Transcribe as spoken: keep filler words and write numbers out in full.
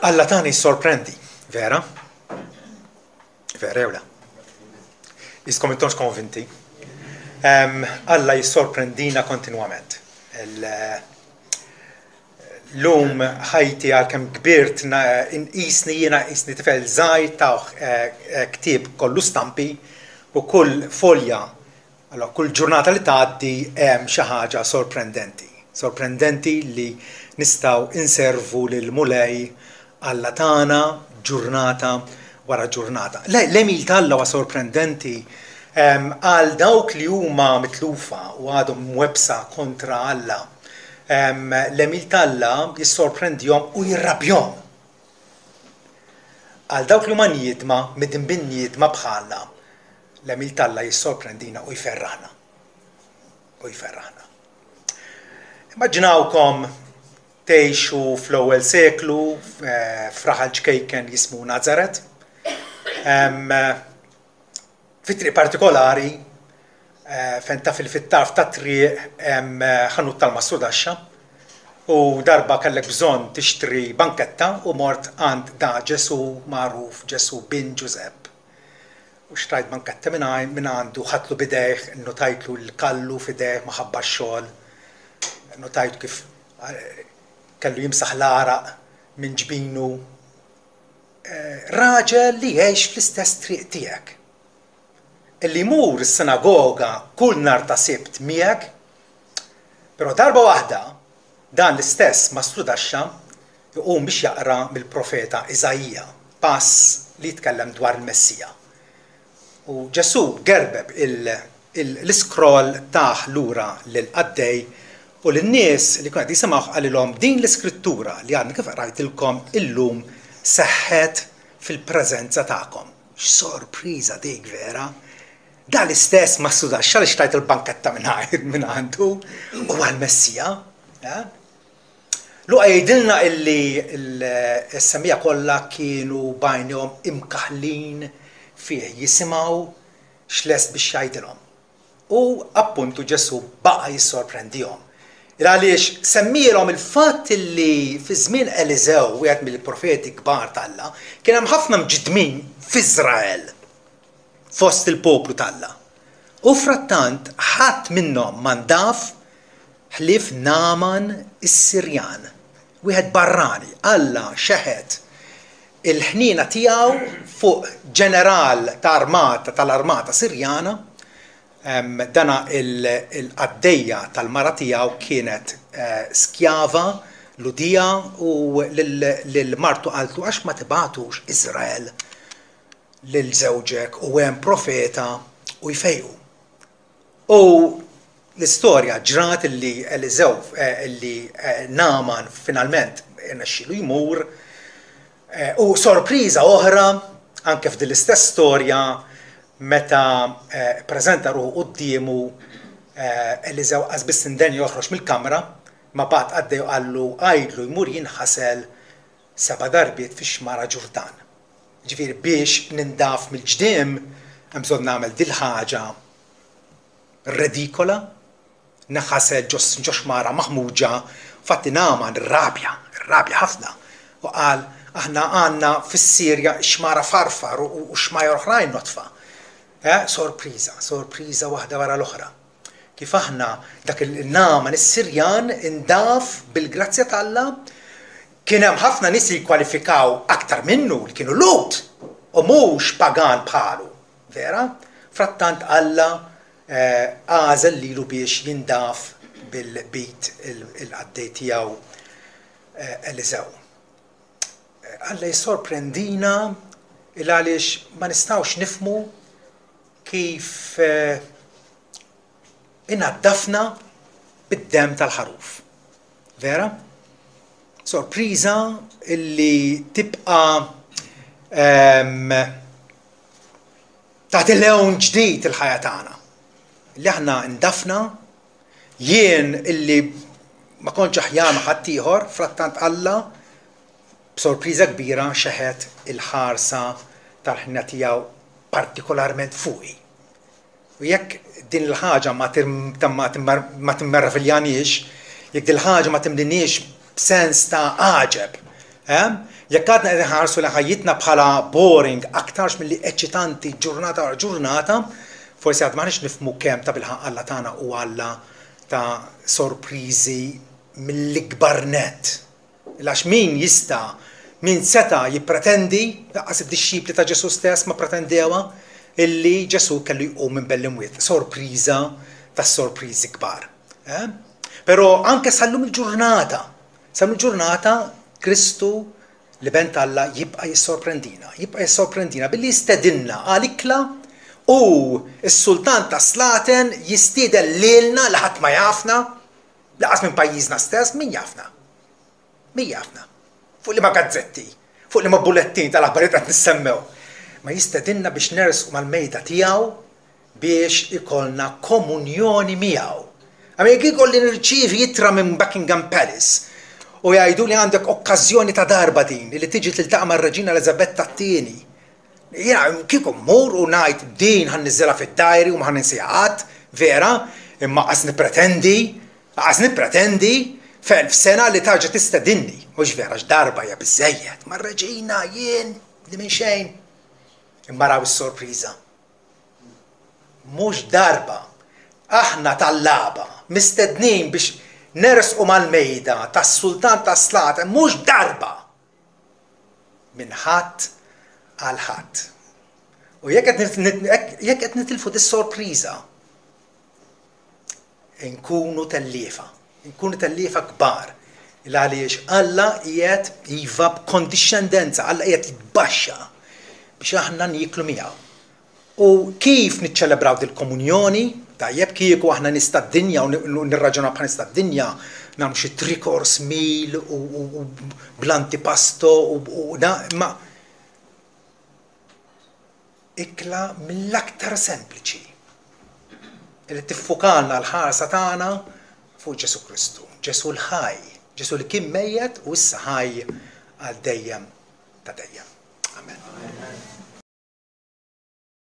Alla tagħna jissorprendi, vera? Vera jew le? Jiskom intomx konvinti. Um, Alla jissorprendina kontinwament. L-lum ħajti għalkemm kbirt inqisni jiena qisni tifel żgħir tawh ktieb kollu stampi u kull folja, allora kull ġurnata li tgħaddi hemm xi ħaġa sorprendenti. Sorprendenti li nistgħu inservu lil Mulej Alla tagħna ġurnata wara ġurnata. L-għemil t'Alla huwa sorprendenti għal dawk li huma mitlufa u għadhom mwebbsa kontra Alla. L-għemil t'Alla jissorprendihom u jirrabjahom. Għal dawk li huma niedma, midinbin niedma bħalna, l-għemil t'Alla jissorprendina u jferraħna. U jferraħna. Immaġinawkom tgħixu fl-ewwel seklu f'raħal ċkejken jismu Nazaret. Fi triq partikolari, fejn taf fit-tarf ta' triq hemm ħanut tal-mastrudaxxa u darba kellek bżonn tixtri banketta u mort għand da Ġesu magħruf, Ġesu bin Ġużepp. U xtrajt banketta minn għandu, ħadtlu b'idejh, notajtlu l-kallu f'idejh maħabba x-xogħol, notajt kif kellu jimsaħ l-għaraq minn ġbinu. Raġel li jgħix fl-istess triq tiegħek. Illi jmur is-sinagoga kull nhar ta' Sibt miegħek, però darba waħda dan l-istess mastrudaxxa jqum biex jaqra mill-profeta Iżaija, pass li jitkellem dwar il-Messija. U Ġesu gerbeb l-iskroll tah lura lill-qaddej u lin-nies li kienu qed jisimgħu qalilhom din l-iskrittura li għadni kif qrajtilkom illum seħħet fil-preżenza tagħkom. X'sorpriża dik vera! Da l-istess mastrudaxxa li xtrajt il-banketta minn għandu u għal-Messija. Luqa jgħidilna illi s-semmiegħa kollha kienu b'għajnejhom imkaħlin fih jisimgħu x'lest biex jgħidilhom. U appuntu Ġesu baqa' jissorprendihom. Għaliex semmielhom il-fatt li fi żmien Eliżew, wieħed mill-profeti kbar t'Alla, kien hemm ħafna mġiddmin f'Iżrael fost il-poplu t'Alla. U frattant ħadd minnhom ma ndaf ħlief Naaman is-Sirjan, wieħed barrani. Alla xeħet il-ħniena tiegħu fuq ġeneral ta' armata tal-armata Sirjana. Dana il-qaddejja tal-mara tiegħu kienet skjava Lhudija u lil martu qaltlu għax ma tibgħatux Iżrael lil żewġek u hemm profeta u jfejqu. U l-istorja ġrat illi Eliżew illi Naaman finalment irnexxielu jmur u sorpriża oħra anke f'din l-istess storja meta preżenta ruħu quddiemu Eliżew qas biss indenja joħroġ mill-kamra, ma bagħat qaddej u qallu għidlu jmur jinħasel seba' darbiet fix-xmara Ġurdan. Ġifieri biex nindaf mill-ġdiem hemm bżonn nagħmel dil-ħaġa redikola, naħasel ġo xmara maħmuġa. Fatti Naaman irrabja, irrabja ħafna u qal aħna għandna fis-Sirja xmara farfar u xmajjar oħrajn notfa. Sorpriża, sorpriża waħda wara l-oħra. Kif aħna dak il-Naaman is-Sirjan indaf bil-grazzja t'Alla, kien hemm ħafna nies li jkwalifikaw aktar minnu li kienu Lhud u mhux pagan bħalu. Vera? Frattant Alla għażel lilu biex jindaf bil-bit il-qaddej tiegħu Eliżew. Alla jissorprendina il għaliex ma nistgħux nifhmu kif inaddafna bid-dem tal-ħaruf. Vera? Sorpriża illi tibqa' tagħti lewn ġdid il-ħajja tagħna. Li aħna ndafna, jien illi ma kontx aħjar ma' ħaddieħor, frattant Alla b'sorpriża kbira xeħet il-ħarsa tal-ħnina tiegħu partikolarment fuqi. U jekk din il-ħaġa ma timmerviljaniex, jekk din il-ħaġa ma timliniex b'sens ta' għaġeb Eh? Jekk għadna qed inħarsu li ħajjitna bħala boring aktarx milli eċitanti ġurnata wara ġurnata, forsi għad m'aħniex nifhmu kemm tabilħaqq Alla tagħna hu Alla ta' sorpriżi mill-ikbar nett. Għax min jista', min seta' jippretendi, lanqas id-dixxipli ta' Ġesù stess ma pretendewha, illi Ġesù kellu jqum minn bejn l-imwiet. Sorpriża tas-sorpriżi kbar. Eh? Però anke sal-lum il-ġurnata, sal-lum il-ġurnata Kristu l-Iben t'Alla jibqa' jissorprendina, jibqa' jissorprendina billi jistedinna għal ikla u s-sultan tas-slaten jistieden lilna li ħadd ma jafna, lanqas minn pajjiżna stess, min jafna? Min jafna? Fuq liema gazzetti, fuq liema bullettin tal-aħbarijiet qed nissemmew. Ma jistedinna biex nersqu mal-mejda tiegħu biex ikollna komunjoni miegħu. Għax jekk ikolli nirċievi ittra minn Buckingham Palace u jgħidu li għandek okkażjoni ta' darba din li tiġi tiltaqa' mar-Reġina Elizabetta t-tieni. Jiena kieku mmur u ngħid din ħa nniżżilha fid-diary u ma ħa ninsiha qatt, vera, imma qas nippretendi, qas nippretendi f'elf sena li terġa' tistedinni. Mhux vera, darba hija biżejjed, mar-reġina jien li minn xejn. Imma raw is-sorpriża. Mhux darba, aħna tallaba, mistednin biex nersqu mal-mejda tas-sultan tas-slaten, mhux darba. Minn Ħadd għal Ħadd. U jekk qed nitilfu dis-sorpriża, inkunu telliefa. Inkunu telliefa kbar. Il-għaliex Alla qiegħed iva b'kondixxendenza, Alla qiegħed jitbaxxa biex aħna nieklu miegħu. U kif niċċelebraw dil-komunjoni? Tajjeb kieku aħna nies tad-dinja u nirraġunaw bħal nies tad-dinja, nagħmlu xi three course meal u bl-antipasto u ma ikla mill-aktar sempliċi li tiffukalna l-ħarsa tagħna fuq Ġesù Kristu, Ġesù l-ħaj, Ġesù li kien mejjet u issa ħaj għal dejjem ta' dejjem. Amen.